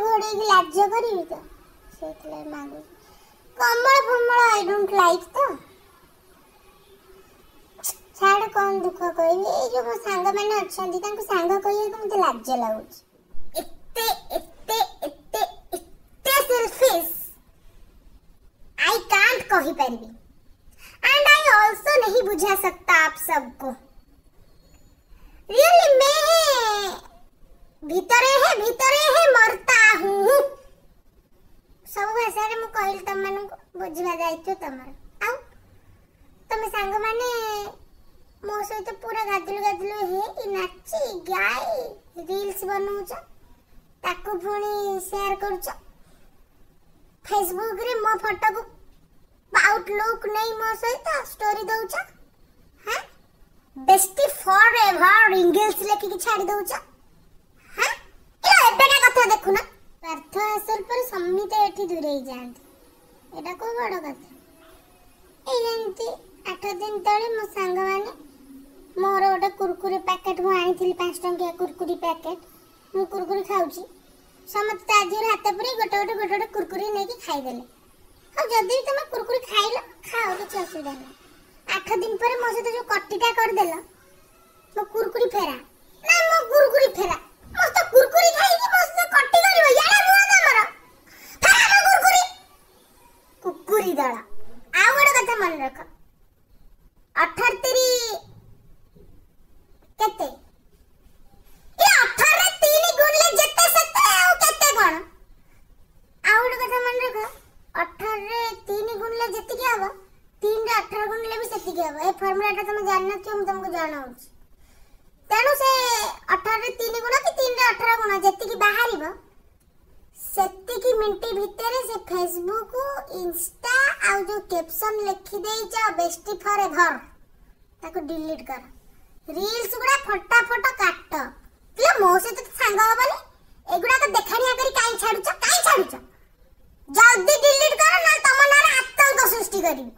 ଘୋଡ଼େଇକି ଲାଜ କରିବି ତ, ସେଇଥିଲାଗି ମାଗୁଛି। କମଳ ଫମଳ I don't like ତ। ଛାଡ଼, କ'ଣ ଦୁଃଖ କହିବି। ଏଇ ଯୋଉ ମୋ ସାଙ୍ଗମାନେ ଅଛନ୍ତି, ତାଙ୍କୁ ସାଙ୍ଗ କହିବାକୁ ମୋତେ ଲାଜ ଲାଗୁଛି। ଏତେ ଏତେ ଏତେ ଏତେ ସେଲଫିସ୍ I କାଣ୍ଟ କହିପାରିବି। एंड I also नहीं बुझा सकता आप सबको। रियली मैं ଭିତରେ ହେ ଭିତରେ ହେ मरता हूँ। ସବୁ ଭାଷାରେ ମୁଁ କହିଲି ତମମାନଙ୍କୁ, ବୁଝିବା ଦାୟିତ୍ୱ ତମର। ଆଉ ତମେ ସାଙ୍ଗମାନେ ମୋ ସହିତ ପୁରା ଗାଦୁଲୁ ଗାଦୁଲୁ ହେଇ ନାଚି ଗାଇ ରିଲ୍ସ ବନଉଛ, ତାକୁ ପୁଣି ସେୟାର କରୁଛ ଫେସବୁକରେ। ମୋ ଫଟୋକୁ ଆଉଟଲୁକ୍ ନେଇ ମୋ ସହିତ ଷ୍ଟୋରି ଦଉଛ, ହଁ, ବେଷ୍ଟି ଫର ଏଭର ଇଂଲିଶ ଲେଖିକି ଛାଡ଼ି ଦଉଛ। ହଁ, ଏ ଏବେକା କଥା ଦେଖୁନ। ସ୍ୱାର୍ଥ ହାସଲ ପରେ ସମିତେ ଏଠି ଦୂରେଇ ଯାଆନ୍ତି, ଏଇଟା କୋଉ ବଡ଼ କଥା? ଏଇ ଯେମିତି 8 ଦିନ ତଳେ ମୋ ସାଙ୍ଗମାନେ ମୋର ଗୋଟେ କୁରକୁରି ପ୍ୟାକେଟ୍ ମୁଁ ଆଣିଥିଲି, 5 ଟଙ୍କିଆ କୁରକୁରି ପ୍ୟାକେଟ୍। ମୁଁ କୁରକୁରି ଖାଉଛି, ସମସ୍ତେ ତା ଦେହରୁ ହାତ ପୁରେଇ ଗୋଟେ ଗୋଟେ ଗୋଟେ ଗୋଟେ କୁରକୁରି ନେଇକି ଖାଇଦେଲେ। ଆଉ ଯଦି ବି ତମେ କୁରକୁରି ଖାଇଲ, ଖାଅ, କିଛି ଅସୁବିଧା ନାହିଁ। 8 ଦିନ ପରେ ମୋ ସହିତ ଯୋଉ କଟିଟା କରିଦେଲ, ମୋ କୁରକୁରି ଫେରା ନା, ମୋ କୁରକୁରି ଫେରା। ମୋ ସହିତ କୁରକୁରି ଖାଇକି ମୋ ସହିତ କଟି କରିବ? ଇଆଡ଼େ ନୁହଁ ତମର, ଫେରା ମୋ କୁରକୁରି, କୁକୁରି ଦଳ। ଆଉ ଗୋଟେ କଥା ମନେ ରଖ, 18 ତିରି କେତେ? ଏ 18ରେ 3 ଗୁଣିଲେ ଯେତେ ସେତେ, ଆଉ କେତେ କଣ? ଆଉ ଗୋଟେ କଥା ମନେ ରଖ, 18ରେ 3 ଗୁଣିଲେ ଯେତିକି ହବ, 3ରେ 18 ଗୁଣିଲେ ବି ସେତିକି ହବ। ଏ ଫର୍ମୁଲାଟା ତମେ ଜାଣିନଥିବ, ମୁଁ ତମକୁ ଜଣାଉଛି। ତେଣୁ ସେ 18ରେ 3 ଗୁଣ କି 3ରେ 18 ଗୁଣ ଯେତିକି ବାହାରିବ, ସେତିକି ମିନିଟ ଭିତରେ ସେ ଫେସବୁକ୍, ଇନଷ୍ଟା ଆଉ ଯୋଉ କ୍ୟାପସନ୍ ଲେଖିଦେଇଛ ବେଷ୍ଟି ଫର ଏଭର, ତାକୁ ଡିଲିଟ୍ କର। ରିଲ୍ସ ଗୁଡ଼ା ଫଟାଫଟ କାଟ। ପିଲା, ମୋ ସହିତ ତ ସାଙ୍ଗ ହବନି, ଏଗୁଡ଼ାକ ଦେଖାଣିଆ କରି କାଇଁ ଛାଡୁଛ? କାଇଁ ଛାଡୁଛ? ଜଲ୍ଦି ଡିଲିଟ୍ କର, ନହେଲେ ତମ ନାଁରେ ଆତଙ୍କ ସୃଷ୍ଟି କରିବି।